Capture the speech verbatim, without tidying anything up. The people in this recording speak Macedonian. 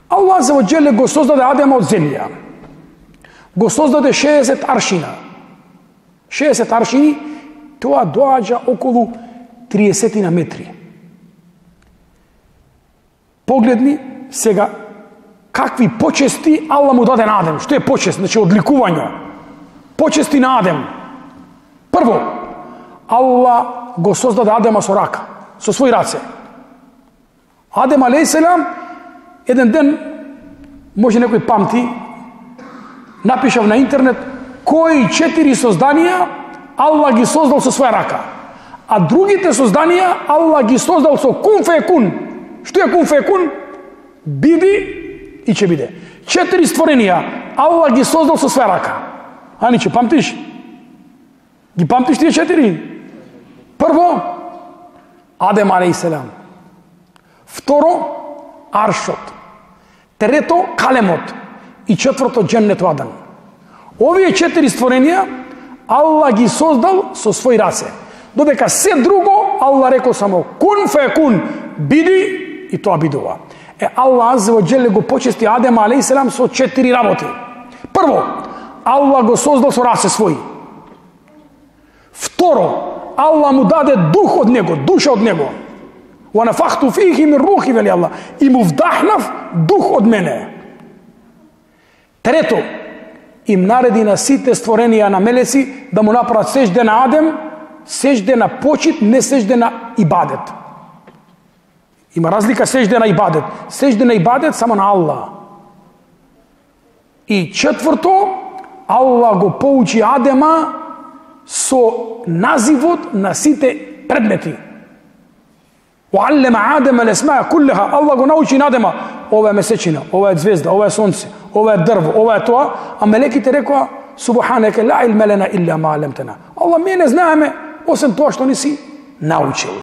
Аллах за оđele го создаде Адема од земја. Го создаде шеесет аршина. шеесет аршини, тоа доаѓа околу триесет метри. Погледни сега какви почести Аллах му даде на Адем. Што е почест? Значи одликување. Почести на Адем. Прво, Аллах го создаде Адема со рака, со своји раце. Адем алейхиселам еден ден, може некој памти, напишав на интернет кои четири созданија Аллах ги создал со своја рака, а другите созданија Аллах ги создал со кун фекун. Што е кун фекун? Биди и ќе биде. Четири створенија Аллах ги создал со своја рака. Ани, че памтиш? Ги памтиш тие четири? Прво, Адем алейхиселам. Второ, аршот. Трето, калемот. И четврто, џеннету Адан. Овие четири створенија Аллах ги создал со своји раце. Додека се друго Аллах рекол само кун фекун, биди и тоа бидува. Е, Аллах азza wa jalla го почести Адем алейхиселам со четири работи. Прво, Аллах го создал со раце своји. Второ, Аллах му даде дух од него, душа од него. Wa nafakhtu fihi min ruhi, вели Аллах, и му вдахнав дух од мене. Трето, им нареди на сите створенија на мелеци да му направат сежде на Адем, сежде на почит, не сежде на ибадет. Има разлика сежде на ибадет. Сежде на ибадет само на Аллах. И четврто, Аллах го поучи Адема со називот на сите предмети. Уаллема Адема лесмаа куллеха. Аллах го научи на Адема. Ова е месечина, ова е звезда, ова е сонце, ова е дрво, ова е тоа. А мелеките рекоа, субханека ла илма лана илля ма алламтана. Аллах, ми не знаеме, осем тоа што не си научил.